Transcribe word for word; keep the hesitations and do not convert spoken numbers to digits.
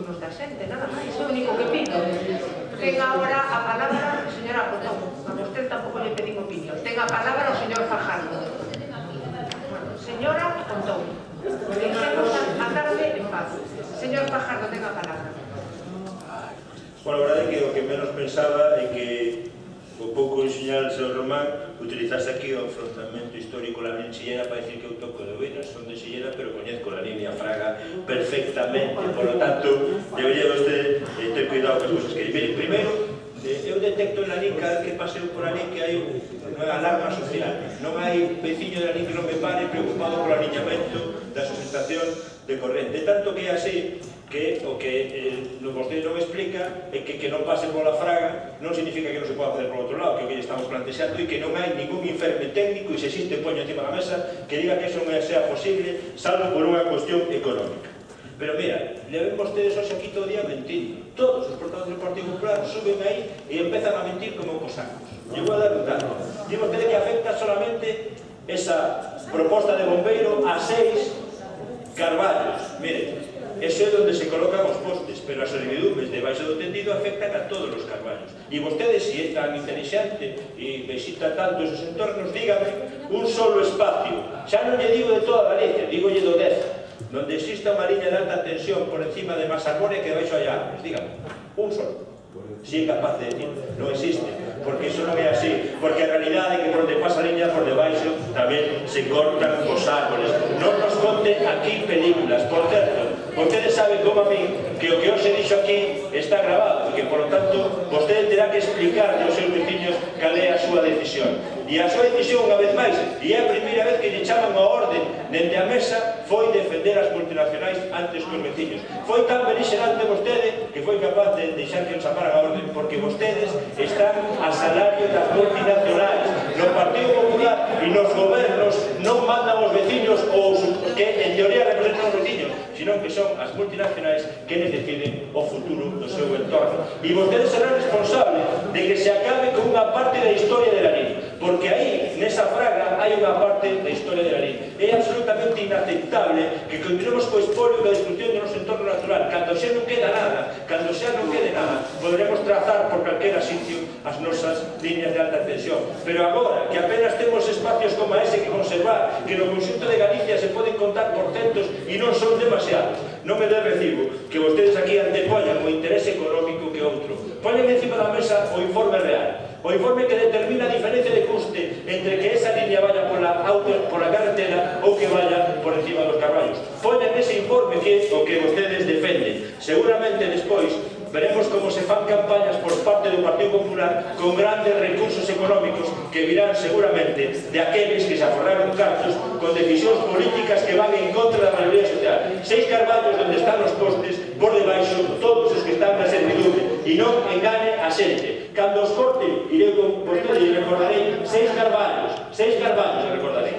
turnos da xente, nada máis, é o único que pido. Ten agora a palabra a señora Cotón, a vostede tampouco lle pedín opinión. Ten a palabra o señor Fajardo. Señora Cotón, deixemos a tarde en paz. Señor Fajardo, ten a palabra. Bueno, a verdade é que o que menos pensaba é que o pouco enseñar ao señor Román utilizase aquí o enfrontamento histórico la línea Sillera para decir que eu toco de oídos, son de Sillera, pero coñezco la línea Fraga perfectamente, por lo tanto, debería usted eh, ter cuidado con as cosas que... Mire, primeiro, eh, eu detecto en la línea cada vez que paseo por la línea que hai unha alarma social, non hai veciño da línea que non me pare preocupado por o aliñamento da sustentación de corrente, tanto que é así que o que eh, vostede non explica é que que non pase pola Fraga non significa que non se poda facer por outro lado, que o que estamos plantexando e que non hai ningún informe técnico e se existe poño encima da mesa que diga que eso non sea posible salvo por unha cuestión económica. Pero mira, le ven vostedes hoxe aquí todo o día mentindo. Todos os portadores do Partido Popular suben aí e empezan a mentir como cosacos. Lle vou a dar un dato. Digo vostede que afecta solamente esa proposta de bombeiro a seis carballos. Mire, eso é onde se colocan os postes, pero as servidumes debaixo do tendido afectan a todos os carballos. E vostede, se é tan inteligente e visita tanto esos entornos, dígame un solo espacio. Xa non lle digo de toda Galicia, digo lle do Deza, donde exista unha liña de alta tensión por encima de Masagore que baixo hai árboles, dígame, un solo. Si é capaz de decir, non existe, porque iso non é así, porque a realidade é que por onde pasa a liña por debaixo tamén se cortan os árboles. Non nos conte aquí películas, por certo, vostede sabe como a mí que o que hoxe dixo aquí está grabado e que, por lo tanto, vostede terá que explicar aos seus veciños cal é a súa decisión. E a súa decisión, unha vez máis, e é a primeira vez que lle chaman a orde dende a mesa, foi defender as multinacionais antes que os veciños. Foi tan beligerante vostede que foi capaz de deixar que os chamaran a orde, porque vostedes están a salario das multinacionais. No Partido Popular e nos gobernos non mandan os veciños ou que en teoría representan os veciños, sino que son as multinacionais que les deciden o futuro do seu entorno. E vostedes serán responsables de que se acabe con unha parte da historia de la línea, porque aí, nesa Fraga, hai unha parte da historia de la línea. É absolutamente inaceptable que continuemos co espolio da destrucción do noso entorno natural. Cando xa non queda nada, cando xa non quede nada, poderemos trazar por calquera sitio as nosas líneas de alta tensión. Pero agora, que apenas temos espacios como ese que conservar, que no conxunto de Galicia se poden contar por centos e non son demasiados, non me dé recibo que vostedes aquí antepoñan o interese económico que outro. Poñen encima da mesa o informe real, o informe que determina a diferencia de custe entre que esa línea vaya pola, auto, pola carretera ou que vaya por encima dos carballos. Poñen ese informe que é o que vostedes defenden. Seguramente despois veremos como se fan campañas por parte do Partido Popular con grandes recursos económicos que virán seguramente de aqueles que se aforraron cartos con decisións políticas que van en contra da maioría social. Seis carballos onde están os postes, por debaixo todos os que están na servidume, e non engane a xente. Cando os corten, irei con vostede e recordarei seis carballos, seis carballos recordarei.